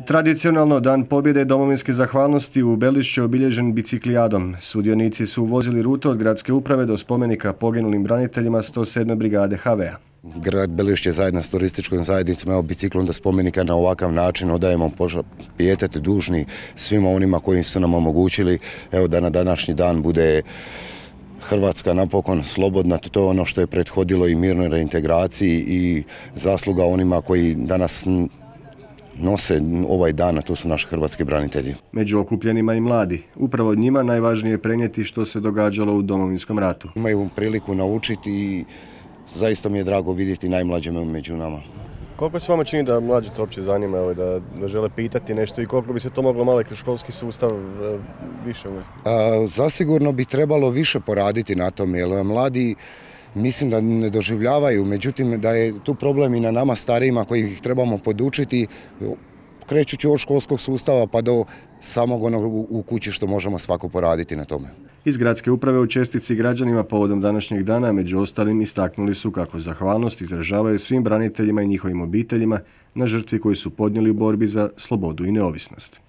Tradicionalno Dan pobjede i domovinske zahvalnosti u Belišću je obilježen biciklijadom. Sudionici su vozili rutu od gradske uprave do spomenika poginulim braniteljima 107. brigade HV-a. Grad Belišće zajedno s turističkom zajednicom, evo, biciklom do spomenika na ovakav način odajemo pijetet dužni svima onima koji su nam omogućili, evo, da na današnji dan bude Hrvatska napokon slobodna. To je ono što je prethodilo i mirnoj reintegraciji i zasluga onima koji danas nose ovaj dan, a to su naši hrvatski branitelji. Među okupljenima i mladi. Upravo od njima najvažnije je prenijeti što se događalo u Domovinskom ratu. Imaju priliku naučiti i zaista mi je drago vidjeti najmlađe među nama. Koliko se vama čini da mlađi to uopće zanima, da žele pitati nešto i koliko bi se to moglo malo kroz školski sustav više uvesti? Zasigurno bi trebalo više poraditi na tome, jer mladi mislim da ne doživljavaju, međutim da je tu problem i na nama starijima koji ih trebamo podučiti, krećući od školskog sustava pa do samog onog u kući što možemo svako poraditi na tome. Iz gradske uprave u čestitci građanima povodom današnjeg dana među ostalim istaknuli su kako zahvalnost izražavaju svim braniteljima i njihovim obiteljima na žrtvi koju su podnijeli u borbi za slobodu i neovisnost.